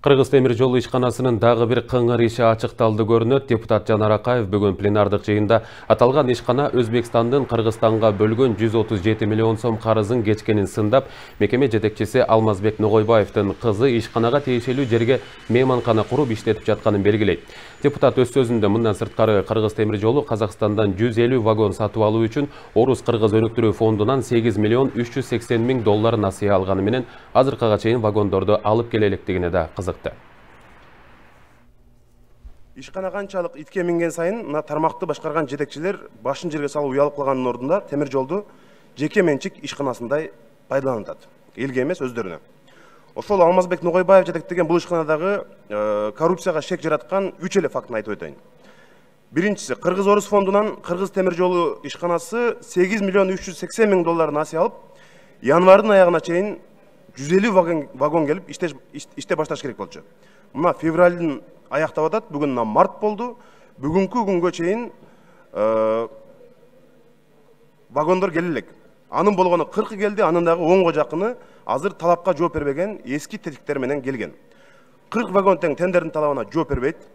Кыргыз темир жолу ишканасынын дагы бир кыңыр иши ачыкталды көрүнөт. Депутат Жанар Акаев бүгүн пленардык жыйында аталган ишкана Өзбекстандын Кыргызстанга бөлгөн 137 миллион сом карызын кечкенин сындап, мекеме жетекчиси Алмазбек Ногойбаевдин кызы ишканага тиешелүү жерге мейманкана куруп иштетип жатканын белгилейт. Депутат өз сөзүндө мындан сырткары Кыргыз темир жолу Казакстандан 150 вагон сатып алуу үчүн Орус-Кыргыз өнүктүрүү фондунан 8 миллион 380 миң доллар насыя алганы менен азыркыга чейин вагондорду алып келе электигине да кызыкты. Ишкана канчалык итке минген сайын мына тармакты башкарган жетекчилер башын жерге салып уялып калганын ордунда темир жолду жеке менчик ишканасындай пайдаланат. Элге эмес, өздөрүнө. Ошол Алмазбек Ногойбаев жетектеген бул ишканадагы коррупцияга шек жараткан 3 эле фактын айтып өтөйүн. Биринчиси, Кыргыз-Орус фондунан Кыргыз темир жолу ишканасы 8 миллион 380 миң доллар насыя алып, январдын аягына чейин 150 вагон келип иште башташ керек болчу. Мына февралдын аяктап атат, бүгүн март болду. Бүгүнкү күнгө чейин вагондор келе элек. Анын болгону 40 келди, анын дагы 10го жакыны азыр талапка жооп бербеген эски тетиктер менен келген. 40 вагон тең тендердин талабына жооп бербейт.